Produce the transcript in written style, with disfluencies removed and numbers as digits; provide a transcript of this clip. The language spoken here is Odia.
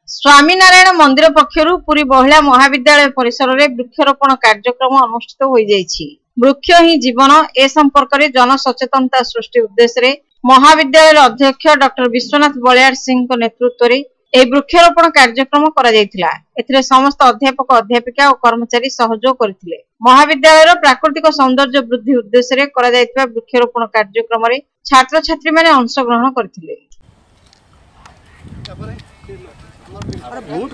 ସ୍ୱାମୀନାରାୟଣ ମନ୍ଦିର ପକ୍ଷରୁ ପୁରୀ ମହିଳା ମହାବିଦ୍ୟାଳୟ ପରିସରରେ ବୃକ୍ଷରୋପଣ କାର୍ଯ୍ୟକ୍ରମ ଅନୁଷ୍ଠିତ ହୋଇଯାଇଛି। ବୃକ୍ଷ ହିଁ ଜୀବନ, ଏ ସମ୍ପର୍କରେ ଜନସଚେତନତା ସୃଷ୍ଟି ଉଦ୍ଦେଶ୍ୟରେ ମହାବିଦ୍ୟାଳୟର ଅଧ୍ୟକ୍ଷ ଡକ୍ଟର ବିଶ୍ୱନାଥ ବଳିୟାର ସିଂଙ୍କ ନେତୃତ୍ୱରେ ଏହି ବୃକ୍ଷରୋପଣ କାର୍ଯ୍ୟକ୍ରମ କରାଯାଇଥିଲା। ଏଥିରେ ସମସ୍ତ ଅଧ୍ୟାପକ, ଅଧ୍ୟାପିକା ଓ କର୍ମଚାରୀ ସହଯୋଗ କରିଥିଲେ। ମହାବିଦ୍ୟାଳୟର ପ୍ରାକୃତିକ ସୌନ୍ଦର୍ଯ୍ୟ ବୃଦ୍ଧି ଉଦ୍ଦେଶ୍ୟରେ କରାଯାଇଥିବା ବୃକ୍ଷରୋପଣ କାର୍ଯ୍ୟକ୍ରମରେ ଛାତ୍ରଛାତ୍ରୀମାନେ ଅଂଶଗ୍ରହଣ କରିଥିଲେ। ବହୁତ।